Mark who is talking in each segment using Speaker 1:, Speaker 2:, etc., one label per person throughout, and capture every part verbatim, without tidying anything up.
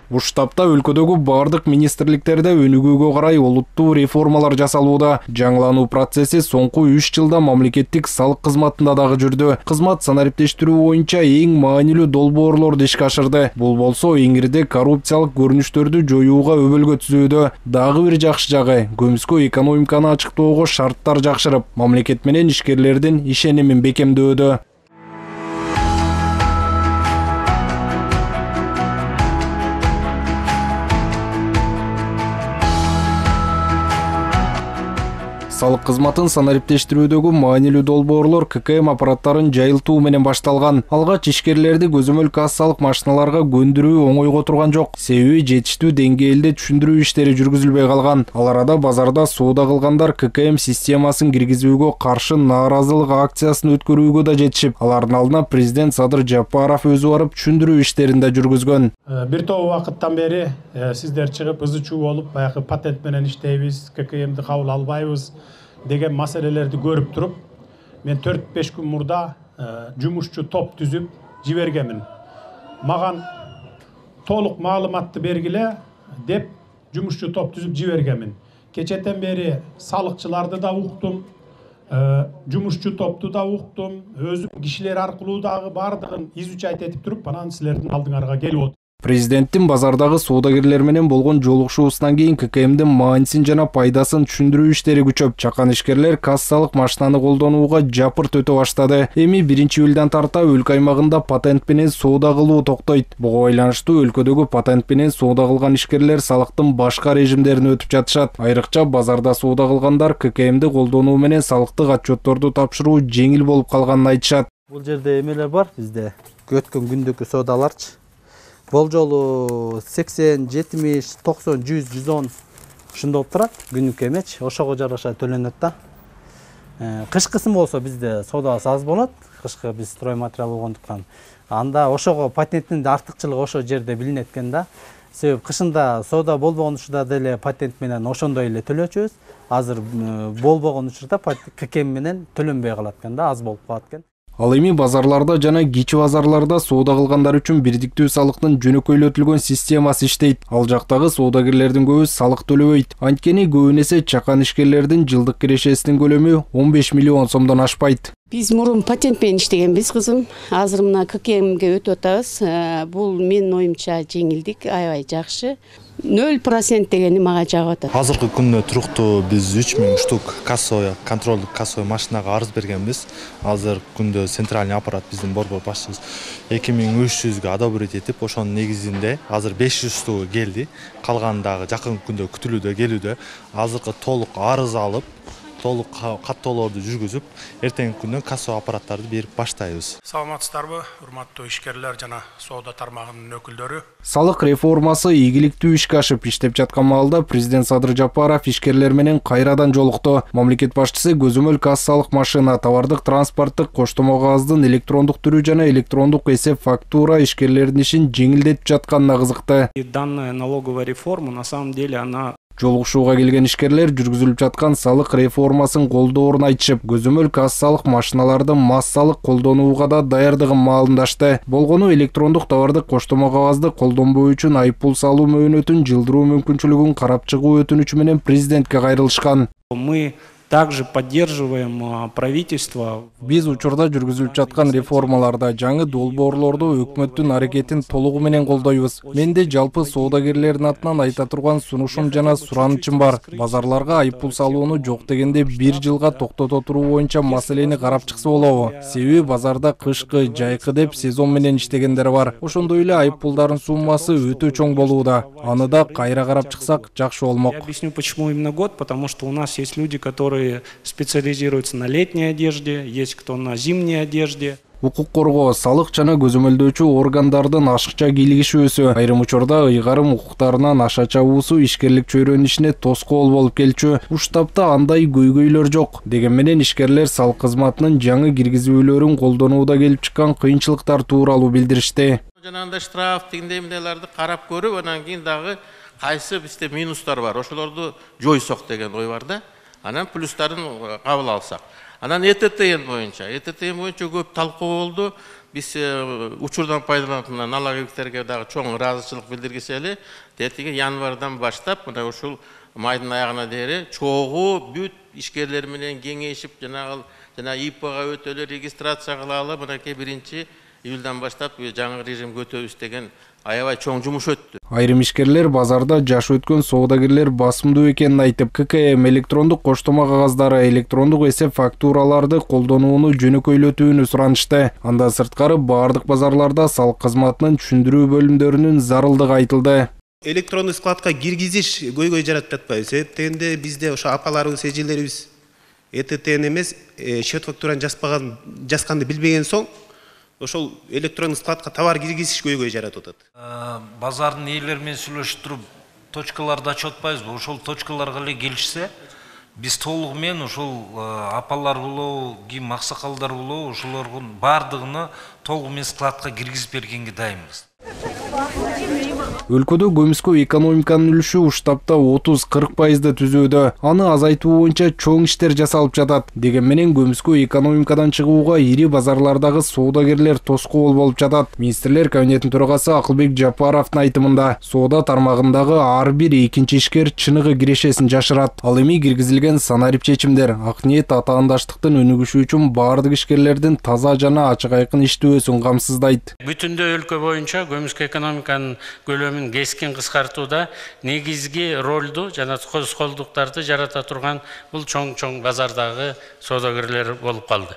Speaker 1: Уштапта өлкөдөгү бардык министрликтерде өнүгүүгө карай олуттуу реформалар жасалууда. Жаңылануу процесси соңку үч жылда мамлекеттик салык кызматында дагы жүрдү. Кызмат санариптештирүү боюнча эң маанилүү долбоорлорду ишке ашырды. Бул болсо эңирде коррупциялык көрүнүштөрдү жоюуга өбөлгө түзүүдө. Дагы бир жакшы жагы көмүскө экономиканы ачыктоого шарттар жакшырып, мамлекет менен ишкерлердин ишенимин бекемдөөдө. Салык кызматын санариптештирүүдөгү маанилүү долбоорлор ка ка эм аппараттарын жайылтуу менен башталган. Алгач ишкерлерди көзөмөл кассалык машиналарга көндүрүү оңойго турган жок. Себеби жетиштүү деңгээлде түшүндүрүү иштери жүргүзүлбөй калган. Ал арада базарда соода кылгандар ка ка эм системасын киргизүүгө каршы нааразылык акциясын өткөрүүгө да жетишип, алардын алдына президент Садыр Жапаров өзү барып түшүндүрүү иштерин да жүргүзгөн.
Speaker 2: Бир топ убакыттан бери сиздер чыгып ызы чуу болуп, баягы патент менен иштейбиз, ка ка эмди кабыл албайбыз деген маселелерди көрүп туруп, мен төрт беш күн мурда жумушчу топ түзүп жибергенмин. Маган толук маалыматты бергиле деп жумушчу топ түзүп жибергенмин. Кечетен бери салыкчыларды да уктум, жумушчу топту да уктум, өзүм кишилер аркылуу дагы бардыгын изучать этип туруп, анан силердин алдыңарга келип отурдум.
Speaker 1: Президенттин базардагы соодагерлер менен болгон жолугушуусунан кийин ка ка эмдин маанисин жана пайдасын түшүндүрүү иштери күчөп, чакан ишкерлер кассалык машинаны колдонууга жапырт өтө баштады. Эми биринчи июлдан тарта өлкө аймагында патент менен соода кылуу токтойт. Буга байланыштуу өлкөдөгү патент менен соода кылган ишкерлер салыктын башка режимдерин өтүп жатышат. Айрыкча базарда соода кылгандар ка ка эмди колдонуу менен салыктык отчетторду тапшыруу жеңил болуп калганын айтышат.
Speaker 3: Бул жерде эмелер бар бизде. Өткөн күндүкү соодаларчы. Бул жолу сексен, жетимиш, токсон, жүз, жүз он ушундай болуп турат. Күнүк эмечи, ошого жараша төлөнөт да. Кышкысын болсо бизде соодабыз аз болот. Кышкы биз строй материал болгондуктан. Анда ошого патенттин артыкчылыгы ошо жерде билинет экен да. Себеби кышында соода болбогон учурда деле патент менен ошондой эле төлөчүбүз. Азыр болбогон учурда ка ка эм менен төлөнбөй калат экен да, аз болуп калат экен.
Speaker 1: Ал эми базарларда жана кичи базарларда соода кылгандар үчүн бирдиктүү салыктын жөнөкөйлөтүлгөн системасы иштейт. Ал жактагы соодагерлердин көбү салык төлөбөйт. Анткени көбүн эсе чакан ишкерлердин жылдык кирешесинин көлөмү он беш миллион сомдон ашпайт.
Speaker 4: Биз мурун патент менен иштегенбиз, кызым. Азыр мына ка ка эмге өтүп атабыз. Бул менин оюмча жеңилдик, аябай жакшы. нөл процент дегени мага жагып атат.
Speaker 5: Азыркы күндө туруктуу биз үч миң штук кассовый, контролдук кассовый машинага арыз бергенбиз. Азыр күндө центральный аппарат биздин борбор башчыбыз эки миң үч жүзгө одобрить этип, ошонун негизинде азыр беш жүзтүү келди. Калган дагы жакын күндө күтүлүүдө, келүүдө. Азыркы толук арыз алып, толук каттоолорду жүргүзүп, эртеңки күндөн кассовый аппараттарды берип баштайбыз.
Speaker 2: Саламатсыздарбы, урматтуу ишкерлер жана соода тармагынын өкүлдөрү?
Speaker 1: Салык реформасы ийгиликтүү ишке ашып иштеп жаткан маалда президент Садыр Жапаров ишкерлер менен кайрадан жолукту. Мамлекет башчысы көзөмөл кассалык машина, товардык транспорттук коштомо кагаздын электрондук түрү жана электрондук эсеп фактура ишкерлердин ишин жеңилдетип жатканына кызыкты.
Speaker 6: Данная налоговая реформа на самом деле она
Speaker 1: Жолугушууга келген ишкерлер жүргүзүлүп жаткан салык реформасын колдоорун айтышып, көзөмөл кассалык машиналарды массалык колдонууга да даярдыгын маалымдашты. Болгону электрондук товардык коштомо кагазды колдонбоо үчүн айыппул салуу мөөнөтүн жылдыруу мүмкүнчүлүгүн карап чыгуу өтүнүчү менен президентке кайрылышкан.
Speaker 6: Мы также поддерживаем правительство.
Speaker 1: Биз учурда жүргүзүлүп жаткан реформаларда жаңы долбоорлорду өкмөттүн аракетин толугу менен колдойбуз. Менде жалпы соодагерлердин атынан айта турган сунушум жана суранычым бар. Базарларга айыппул салууну жок дегенде бир жылга токтото туруу боюнча маселени карап чыкса болобу? Себеби базарда кышкы, жайкы деп сезон менен иштегендер бар. Ошондой эле айыппулдардын суммасы өтө чоң болууда. Аны да кайра карап чыксак жакшы болмок.
Speaker 6: Я объясню, почему именно год, потому что у нас есть люди, которые специализируются на летней одежде, есть кто на зимней одежде.
Speaker 1: Укук коргоо, салык жана көзөмөлдөөчү органдардын ашыкча кийлигишүүсү, айрым учурда ыйгарым укуктарынан аша чабуусу ишкерлик чөйрөнүн ишине тоскоол болуп келчү. Уштапта андай көйгөйлөр жок. Деген менен ишкерлер салык кызматынын жаңы киргизүүлөрүн колдонууда келип чыккан кыйынчылыктар тууралуу билдиришти.
Speaker 7: Жанагындай штраф тигиндей эмнелерди карап көрүп, анан кийин дагы кайсы бизде минустар бар, ошолорду жойсок деген ой бар да. Анан плюстарын кабыл алсак. Анан Э Т Т Н боюнча, Э Т Т Н боюнча көп талкуу болду. биз учурдан пайдаланатын налоговиктерге дагы чоң ыраазычылык билдиргисели, тетиги январдан баштап мына ушул майдын аягына дейин чогуу бүт ишкерлер менен кеңешип, жанагы жана ИПга өтөлү регистрация кылалы, мынакей биринчи июлдан баштап жаңы режимге өтөбүз деген аябай чоң жумуш өттү.
Speaker 1: Айрым ишкерлер базарда жаш өткөн соодагерлер басымдуу экенин айтып, ККМ электрондук коштома кагаздары, электрондук эсеп фактураларды колдонууну жөнөкөйлөтүүнү суранышты. Андан сырткары баардык базарларда салык кызматынын түшүндүрүү бөлүмдөрүнүн зарылдыгы айтылды.
Speaker 8: Электрондук складка киргизиш көйгөй жаратып жатпайбы? Себеп дегенде бизде ошо апаларыбыз, эжелерибиз Э Т Т'ни эмес, счет фактураны жазбаган, жазганды билбеген соң ошол электрондук складка товар киргизиш көйгөй жаратып атат.
Speaker 9: Базардын ээлери менен сүйлөшүп туруп, точкаларды ачып атпайбызбы? Ошол точкаларга эле келишсе, биз толугу менен ошол апалар болобу, ким аксакалдар болобу, ошолордун баардыгына толугу менен складка киргизип бергенге дайынбыз.
Speaker 1: Өлкөдө көмүскө экономиканын үлүшү уштапта отуз кырк пайызды түзүүдө. Аны азайтуу боюнча чоң иштер жасалып жатат. Деген менен көмүскө экономикадан чыгууга ири базарлардагы соодагерлер тоскоол болуп жатат. Министрлер кабинетинин төрагасы Акылбек Жапаровдун айтымында, соода тармагындагы ар бир экинчи ишкер чыныгы кирешесин жашырат. Ал эми киргизилген санарип чечимдер ак ниет атаандаштыктын өнүгүшү үчүн баардык ишкерлердин таза жана ачык айкын иштөөсүн камсыздайт.
Speaker 10: Бүтүндөй өлкө боюнча көмүскө экономиканын көлөмүн кескин кыскартууда негизги ролду жана тоскоолдуктарды жарата турган бул чоң-чоң базардагы соодагерлер болуп калды.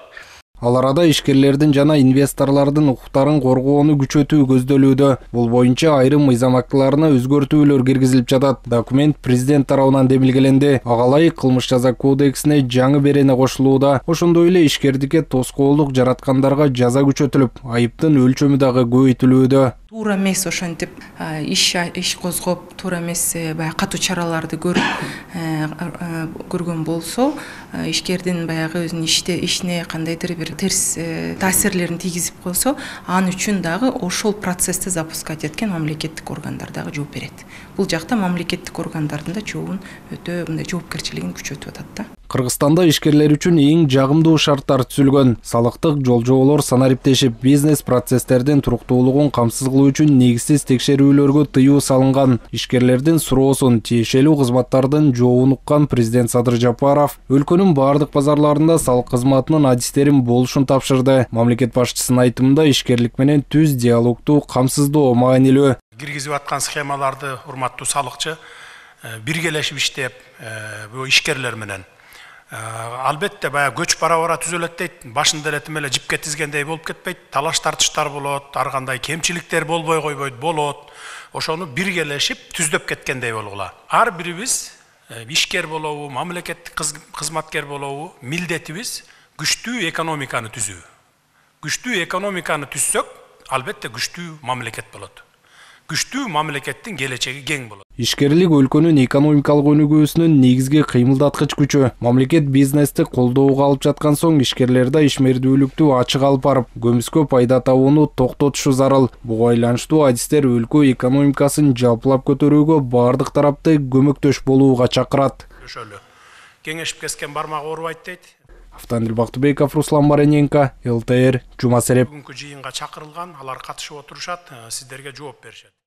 Speaker 1: Ал арада ишкерлердин жана инвесторлордун укуктарын коргоону күчөтүү көздөлүүдө. Бул боюнча айрым мыйзам актыларына өзгөртүүлөр киргизилип жатат. Документ президент тарабынан демилгеленди. Ага ылайык кылмыш жаза кодексине жаңы берене кошулууда. Ошондой эле ишкердикке тоскоолдук жараткандарга жаза күчөтүлүп, айыптын өлчөмү дагы көбөйтүлүүдө.
Speaker 11: Туура эмес ошентип иш иш козгоп, туура эмес баягы катуу чараларды көрүп көргөн болсо, ишкердин баягы өзүнүн иште ишине кандайдыр бир терс таасирлерин тийгизип койсо, анын үчүн дагы ошол процессти запускать эткен мамлекеттик органдар дагы жооп берет. Бул жакта мамлекеттик органдардын да жообун өтө мындай жоопкерчилигин күчөтүп атат да.
Speaker 1: Кыргызстанда ишкерлер үчүн эң жагымдуу шарттар түзүлгөн. Салыктык жолжоболор санариптешип, бизнес процесстердин туруктуулугун камсыз кылуу үчүн негизсиз текшерүүлөргө тыюу салынган. Ишкерлердин суроосун, тиешелүү кызматтардын жообун уккан президент Садыр Жапаров өлкөнүн баардык базарларында салык кызматынын адистерин болушун тапшырды. Мамлекет башчысынын айтымында ишкерлик менен түз диалогту камсыздоо маанилүү.
Speaker 2: Киргизип аткан схемаларды урматтуу салыкчы биргелешип иштеп, бул ишкерлер менен албетте баягы көч бара-бара түзөлөт дейт. Башында эле тим эле жипке тизгендей болуп кетпейт. Талаш тартыштар болот, ар кандай кемчиликтер болбой койбойт, болот. Ошону биргелешип түздөп кеткендей болгула. Ар бирибиз ишкер болобу, мамлекеттик кызматкер болобу, милдетибиз күчтүү экономиканы түзүү. Күчтүү экономиканы түзсөк, албетте күчтүү мамлекет болот. Күчтүү мамлекеттин келечеги кең болот.
Speaker 1: Ишкерлик өлкөнүн экономикалык өнүгүүсүнүн негизги кыймылдаткыч күчү. Мамлекет бизнести колдоого алып жаткан соң ишкерлерде ишмердүүлүктү ачык алып барып, көмүскө пайда табууну токтотушу зарыл. Буга байланыштуу адистер өлкө экономикасын жалпылап көтөрүүгө баардык тарапты көмөктөш болууга чакырат.
Speaker 2: Кеңешип кескен бармак оорубайт дейт.
Speaker 1: Автандил Бактыбеков, Руслан Барененко, эл тэ эр, Жума Сереп.
Speaker 2: Бүгүнкү жыйынга чакырылган, алар катышып отурушат, сиздерге жооп беришет.